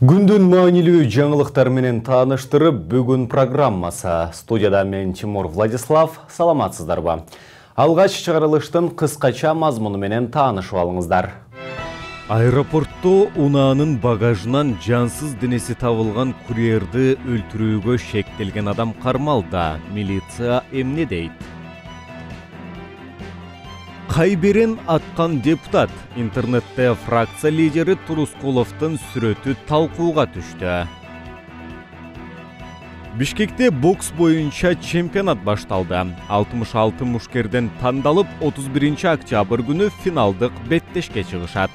Күндүн маанилүү жаңылыктар менен тааныштырып, бүгүн программасы. Студияда мен Тимур Владислав, саламатсыздарбы? Алгач чыгарылыштын кыскача мазмуну менен таанышып алыңыздар. Аэропортто унаанын багажынан жансыз денеси табылган курьерди өлтүрүүгө шектелген адам кармалда. Милиция эмне дейт? Кайберен аткан депутат. Интернетте фракция лидери Турускуловдун сүрөтү талкууга түштү. Бишкекте бокс боюнча чемпионат башталды. 66 мушкерден тандалып, 31 октябрь күнү финалдык беттешке чыгышат.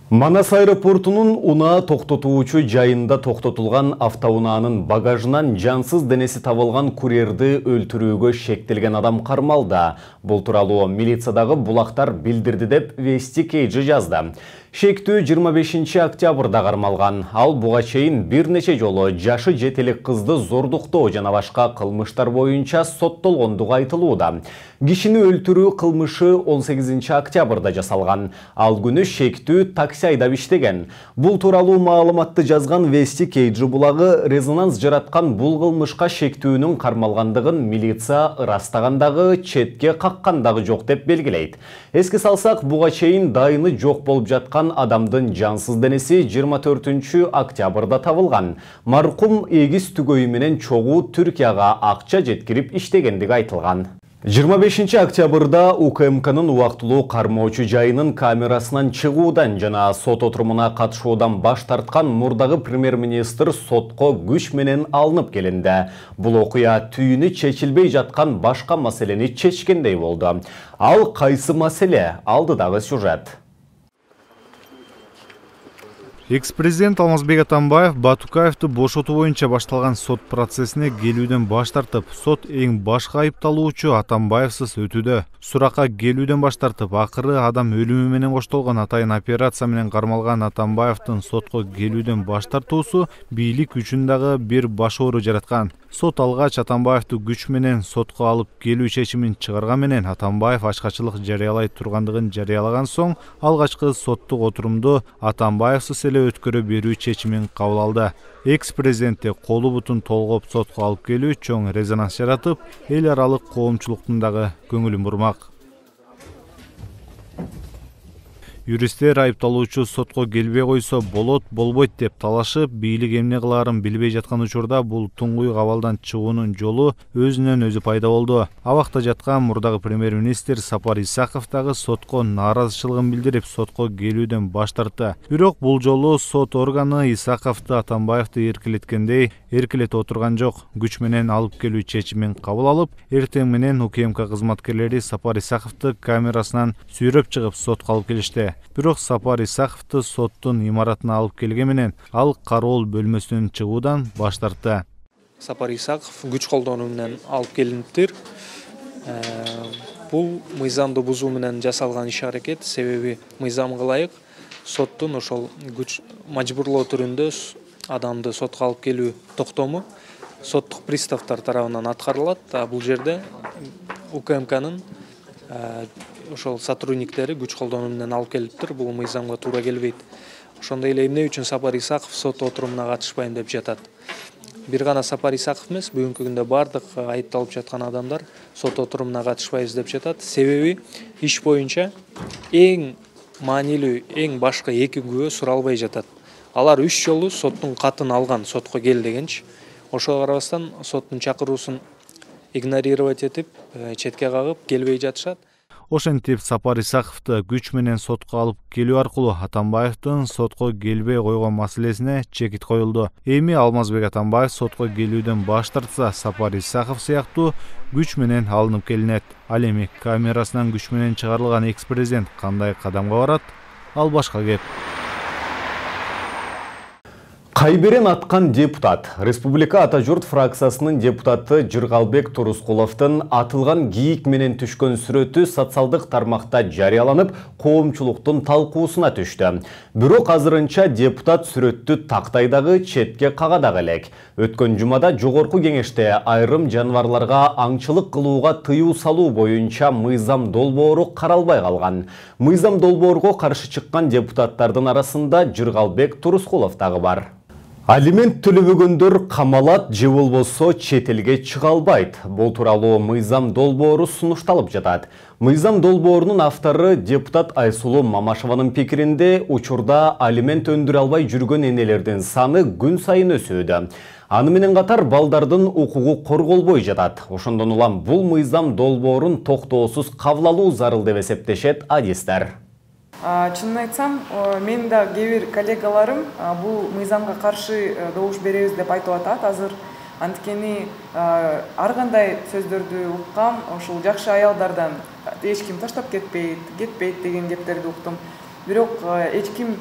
Манас аэропортунун унаа токтотуучу жайында токтотулган автоунаанын багажынан жансыз денеси табылган курьерди өлтүрүүгө шектелген адам кармалда. Бул тууралуу милициядагы булактар билдирди деп Вести Кейджи жазды. Шектүү 25 октябрда кармалган. Ал буга чейин бир нече жолу жашы жетелик кызды зордуктоо жана башка кылмыштар боюнча соттолгондугу айтылууда. Кишини өлтүрүү кылмышы 18 октябрда жасалган. Ал күнү шектүү такси айдап иштеген. Бул тууралуу маалыматты жазган Вести Кейджи булагы резонанс жараткан бул кылмышка шектүүнүн кармалгандыгын милиция ырастагандагы, четке каккандагы жок деп белгилейт. Эске салсак, буга чейин дайыны жок болуп жаткан адамдын жансыз денеси 24 октябрда табылган. Маркум эгиз түгөйү менен чогуу Түркияга акча жеткирип иштегендиги айтылган. 25 октябрда УКМКнын убактылуу кармоочу жайынын камерасынан чыгуудан жана сот отурумуна катышуудан баш тарткан мурдагы премьер-министр сотко күч менен алынып келинди. Бул окуя түйүнү чечилбей жаткан башка маселени чечкендей болду. Ал кайсы маселе? Алдыдагы сюжет. Экс-президент Алмазбек Атамбаев Батукаевди бошотуу боюнча башталган сот процессине келүүдөн баш тартып, сот эң башкы айыпталуучу Атамбаевсыз өтүүдө. Суракка келүүдөн баш тартып, акыры адам өлүмү менен коштолгон атайын операция менен кармалган Атамбаевдин сотко келүүдөн баш тартуусу бийлик үчүн дагы бир баш оору жараткан. Сот алгач Атамбаевди күч менен сотко алып келүү чечимин чыгарган менен Атамбаев ачкачылык жарыялай тургандыгын жарыялаган соң, алгачкы соттук отурумду Атамбаевсыз эле өткөрө берүү чечимин кабыл алды. Экс-президентти колу бутун толгоп сотко алып келүү чоң резонанс жаратып, эл аралык коомчулуктун дагы көңүлүн бурмак. Юристтер айыпталуучу сотко келбей койсо болот, болбойт деп талашып, бийлик эмне кылаарын билбей жаткан учурда бул туңгуй абалдан чыгуунун жолу өзүнөн өзү пайда болду. Абакта жаткан мурдагы премьер-министр Сапар Исаков дагы сотко нааразычылыгын билдирип, сотко келүүдөн баш тартты. Бирок бул жолу сот органы Исаковду Атамбаевди эркелеткендей эркелете отурган жок. Күч менен алып келүү чечимин кабыл алып, эртең менен УКМК кызматкерлери Сапар Исаковду камерасынан сүйрөп чыгып сотко алып келишти. Бирок Сапар Исаковду соттун имаратына алып келген менен ал кароол бөлмөсүнөн чыгуудан баш тартты. Сапар Исаков күч колдонуу менен алып келиниптир. Бул мыйзамды бузуу менен жасалган иш-аракет, себеби мыйзамга ылайык соттун ошол күч мажбурлоо түрүндө адамды сотко алып келүү токтому соттук приставтар тарабынан аткарылат. Бул жерде УКМКнын ошол сотрудниктери күч колдонуу менен алып келиптир. Бул мыйзамга туура келбейт. Ошондой эле эмне үчүн Сапар Исаков сот отурумуна катышпайм деп жатат. Бир гана Сапар Исаков эмес, бүгүнкү күндө бардык айыпталып жаткан адамдар сот отурумуна катышпайбыз деп жатат. Себеби иш боюнча эң маанилүү, эң башкы эки күбө суралбай жатат. Алар 3 жолу соттун катын алган, сотко кел дегенчи. Ошого карабастан соттун чакыруусун игнорировать этип, четке кагып келбей жатышат. Ошентип Сапар Исаковду күч менен сотко алып келүү аркылуу Атамбаевдин сотко келбей койгон маселесине чекит коюлду. Эми Алмазбек Атамбаев сотко келүүдөн баш тартса, Сапар Исаков сыяктуу күч менен алынып келинет. Ал эми камерасынан күч менен чыгарылган экс-президент кандай кадамга барат? Ал башка кеп. Кайберен аткан депутат. Республика Ата журт фракциясынын депутаты Жыргалбек Турускуловдун атылган кийик менен түшкөн сүрөтү социалдык тармакта жарыяланып, коомчулуктун талкуусуна түштү. Бирок азырынча депутат сүрөттү тактайдагы четке кагадагы элек. Өткөн жумада жогорку кеңеште айрым жаныбарларга аңчылык кылууга тыюу салуу боюнча мыйзам долбоору каралбай калган. Мыйзам долбоорго каршы чыккан депутаттардын арасында Жыргалбек Турускулов дагы бар. Алимент төлөбөгөндөр камалат же болбосо чет элге чыга албайт. Бул тууралуу мыйзам долбоору сунушталып жатат. Мыйзам долбоорунун автору депутат Айсулуу Мамашеванын пикиринде учурда алимент өндүрө албай жүргөн энелердин саны күн сайын өсүүдө. Аны менен катар балдардын укугу корголбой жатат. Ошондон улам бул мыйзам долбоорун токтоосуз кабыл алуу зарыл деп эсептешет адистер. Чынын айтсам, мен да кээ бир коллегаларым бул мыйзамга каршы добуш беребиз деп айтып атат азыр. Анткени ар кандай сөздөрдү уккам, ушул жакшы аялдардан эч ким таштап кетпейт деген кептерди уктум. Бирок эч ким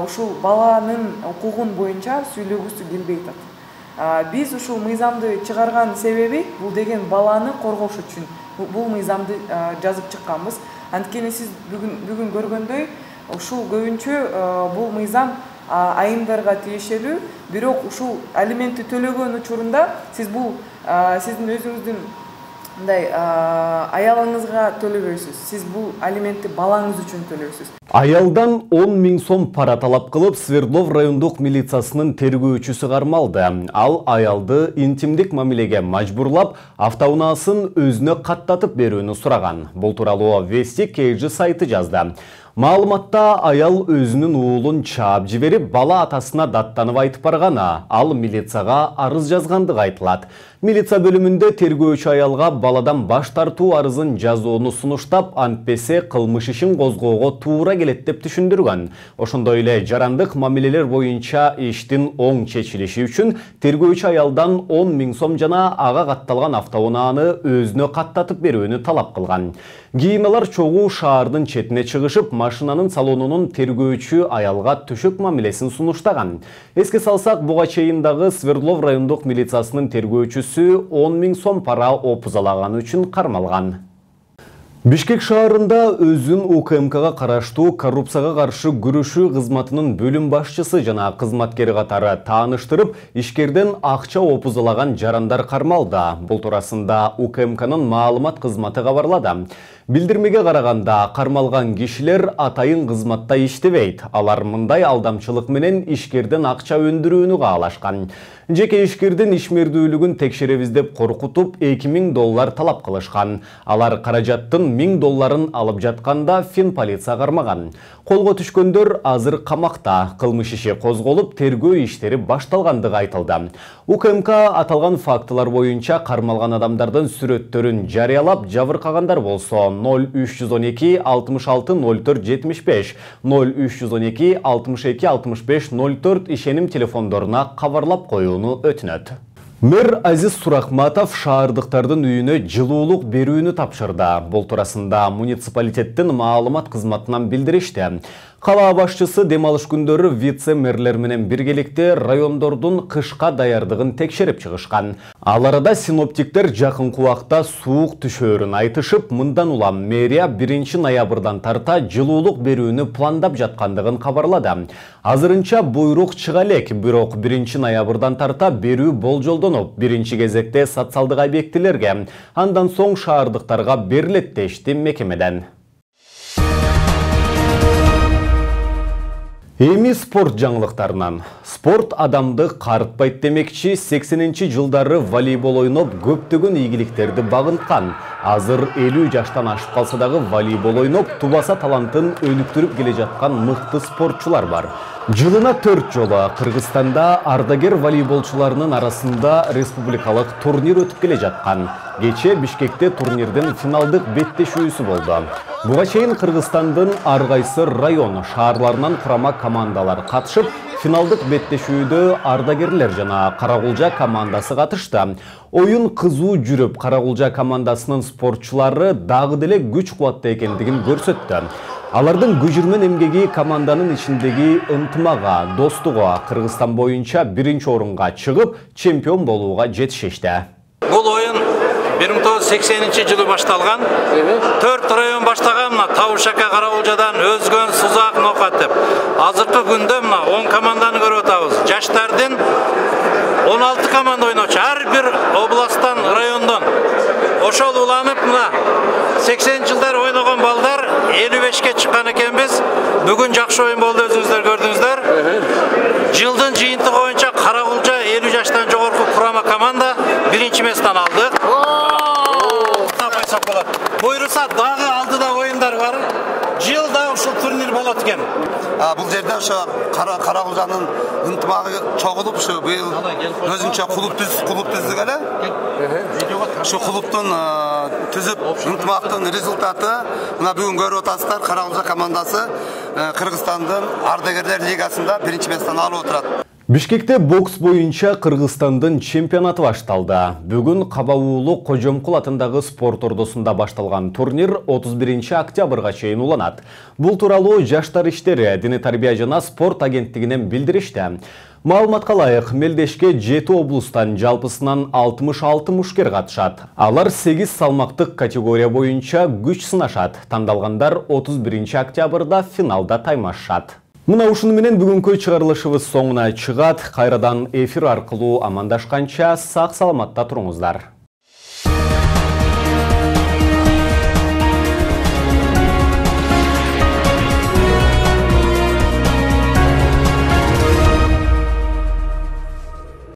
ушул баланын укугун боюнча сүйлөгүсү келбей атат. Биз ушул мыйзамды чыгарган себеби бул деген баланы коргош үчүн бул мыйзамды жазып чыкканбыз. Анткени сиз бүгүн көргөндөй, ушул көбүнчө бул мыйзам айымдарга тиешелүү, бирок ушул алиментти төлөгөн учурунда сиз бул сиздин өзүңүздүн мындай аялыңызга төлөбөйсүз. Сиз бул алиментти балаңыз үчүн төлөйсүз. Аялдан 10 000 сом пара талап кылып, Свердлов райондук милициясынын тергөөчүсү кармалды. Ал аялды интимдик мамилеге мажбурлап, автоунаасын өзүнө каттатып берүүнү сураган. Бул тууралуу Вестик KG сайты жазды. Маалыматта аял өзүнүн уулун чаап жиберип, бала атасына даттанып айтып барганы, ал милицияга арыз жазгандыгы айтылат. Милиция бөлүмүндө тергөөчү аялга баладан баш тартуу арызын жазууну сунуштап, антпесе кылмыш ишин козгоого туура келет деп түшүндүргөн. Ошондой эле жарандык мамилелер боюнча иштин оң чечилиши үчүн тергөөчү аялдан 10 000 сом жана ага катталган автоунааны өзүнө каттатып берүүнү талап кылган. Кийин алар чогуу шаардын четине чыгышып, машинанын салонунун тергөөчү аялга түшөк мамилесин сунуштаган. Эске салсак, буга чейин дагы Свердлов райондук милициясынын тергөөчүсү 10 000 сом пара опузалаган үчүн кармалган. Бишкек шаарында өзүн УКМКга караштуу коррупцияга каршы күрөшүү кызматынын бөлүм башчысы жана кызматкери катары тааныштырып, ишкерден акча опузалаган жарандар кармалды. Бул туурасында УКМКнын маалымат кызматы кабарлады. Билдирмеге караганда, кармалган кишилер атайын кызматта иштебейт. Алар мындай алдамчылык менен ишкерден акча өндүрүүнү каалашкан. Жеке ишкердин ишмердүүлүгүн текшеребиз деп коркутуп, $2000 талап кылышкан. Алар каражаттын $1000 алып жатканда Финполиция кармаган. Колго түшкөндөр азыр камакта. Кылмыш иши козголуп, тергөө иштери башталгандыгы айтылды. УКМК аталган фактылар боюнча кармалган адамдардын сүрөттөрүн жарыялап, жабыркагандар болсо 0312 66 04 75 0312 62 65 04 ишеним телефондоруна кабарлап коюуну өтүнөт. Мэр Азиз Сурахматов шаардыктардын үйүнө жылуулук берүүнү тапшырды. Бул туурасында муниципалитеттин маалымат кызматынан билдиришти. Кала башчысы дем алыш күндөрү вице-мэрлер менен биргеликте райондордун кышка даярдыгын текшерип чыгышкан. Ал арада синоптиктер жакынкы убакта суук түшөөрүн айтышып, мындан улам мэрия 1 ноябрдан тарта жылуулук берүүнү пландап жаткандыгын кабарлады. Азырынча буйрук чыга элек, бирок 1 ноябрдан тарта берүү болжолдонуп, биринчи кезекте социалдык объектилерге, андан соң шаардыктарга берилет дешти мекемеден. Эми спорт жаңылыктарынан. Спорт адамды карытпайт демекчи, 80-нчи жылдары волейбол ойноп көптөгөн ийгиликтерди багынткан. Азыр 50 жаштан ашып калса дагы волейбол ойноп тубаса талантын өнүктүрүп келе жаткан мыкты спортчулар бар. Жылына 4 жолу Кыргызстанда ардагер волейболчуларынын арасында республикалык турнир өтүп келе жаткан. Кече Бишкекте турнирдин финалдык беттешүүсү болду. Буга чейин Кыргызстандын ар кайсы район шаарларынан курама командалар катышып, финалдык беттешүүдө ардагерлер жана Карагулжа командасы катышты. Оюн кызуу жүрүп, Карагулжа командасынын спортчулары дагы деле күч кубатта экендигин көрсөттү. Алардын күжүрмөн эмгеги команданын ичиндеги ынтымага, достуга Кыргызстан боюнча 1-орунга чыгып, чемпион болууга жетишишти. Бул оюн 1980-жылы башталган. 4 район баштаган мына Табышака, Карагулжадан Өзгөн, Сузак, Нокат деп. Азыркы күндө мына 10 команданы көрүп атабыз. Жаштардын 16 команда ойночу. Ар бир областтан, райондон ошол уланып мына 80-жылдар ойногон балдар 55ке чыккан экенбиз. Бүгүн жакшы оюн болду, өзүңүздөр көрдүңүздөр. Жылдын жыйынтыгы боюнча Карагулжа 50 жаштан жогорку курама команда 1-местен алды. Буйруса дагы алдыда оюндар бар. Жылда ушул турнир болот экен. Бул жерде ошо Карагулжанын ынтымагы чогулуп, ушу быйыл өзүнчө клуб түздүк эле. Ушу клубтун түзүп ынтымактын результаты мына бүгүн көрүп атасыздар. Карагулжа командасы Кыргызстандын ардагерлер лигасында 1-местен алып отурат. Бишкекте бокс боюнча Кыргызстандын чемпионаты башталды. Бүгүн Кабабуулу Кожомкул атындагы спорт ордосунда башталган турнир 31-октябрга чейин уланат. Бул тууралуу Жаштар иштери, диний тарбия жана спорт агенттигинен билдиришти. Маалыматка ылайык, Мелдешке 7 облустан жалпысынан 66 мушкер катышат. Алар 8 салмактык категория боюнча күч сынашат. Тандалгандар 31-октябрда финалда таймашат. Мына ушуну менен бүгүнкү чыгарылышыбыз соңуна чыгат. Кайрадан эфир аркылуу амандашканча сак саламатта туруңуздар.